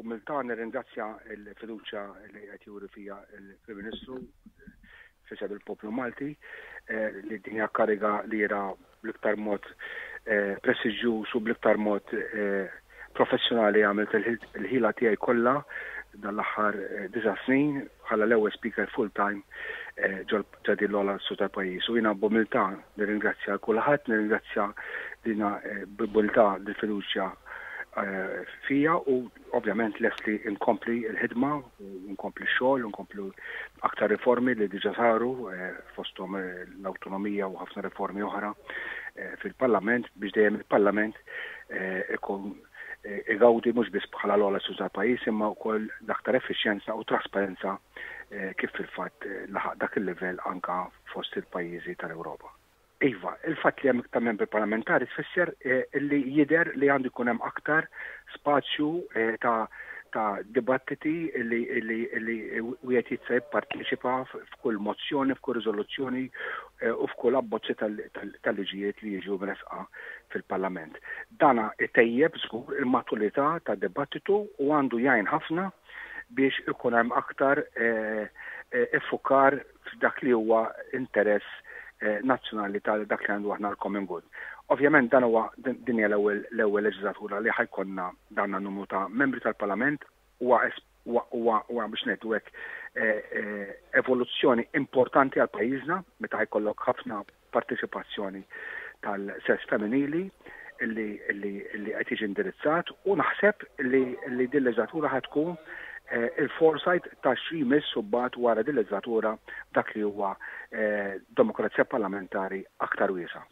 B'umiltà nirringrazzja l-fiduċja li qed juri fija l-Prim Ministru f'isem il-poplu Malti li din hija kariga li jiena bl-iktar mod prestiġjuż u bl-iktar mod professjonali għamilt il-ħila tiegħi kollha dan l-aħħar disa' snin bħala l-ewwel speaker full-time ġo din l-ogħla istituzzjoni tal-pajjiż. U jiena b'umiltà nirringrazzja 'l kulħadd, nirringrazzja dina b'umiltà dil-fiduċja fija u ovvjament lest li nkompli l-ħidma u nkompli x-xogħol u nkomplu aktar riformi li diġà saru fosthom l-awtonomija u ħafna riformi oħra fil-Parlament biex dejjem il-Parlament ikun igawdi mhux biss bħala l-ogħla istituzzjoni tal-pajjiż imma wkoll l-aktar effiċjenza u trasparenza kif fil-fatt laħaq dak il-livell anke fost il-pajjiżi tal-Ewropa. Iva, il-fatt li hemm iktar membri parlamentari tfisser li jidher li għandu jkun hemm aktar spazju ta' ta' dibattiti li li li wieħed jista' jipparteċipa f'kull mozzjoni, f'kull riżoluzzjoni u f'kull abbozzi tal-liġijiet li jiġu mressqa fil-Parlament. Dana itejjeb żgur il-maturità tad-dibattitu u għandu jgħin ħafna biex ikun hemm aktar iffukar f'dak li huwa interess nazzjonali ta' dak li għandu aħna l-common good. Ovvjament dan huwa din hija l-ewwel l-ewwel leġislatura li ħa jkollna dan numru ta' membri tal-Parlament huwa huwa huwa biex ngħidu hekk evoluzzjoni importanti għal pajjiżna meta ħajkollok ħafna parteċipazzjoni tal-sess femminili li li li qed jiġi indirizzat u naħseb li li din leġislatura ħa tkun il-foresight ta' xi jmiss u mbagħad wara din leġislatura dak li huwa demokrazija parlamentari aktar wiesgħa.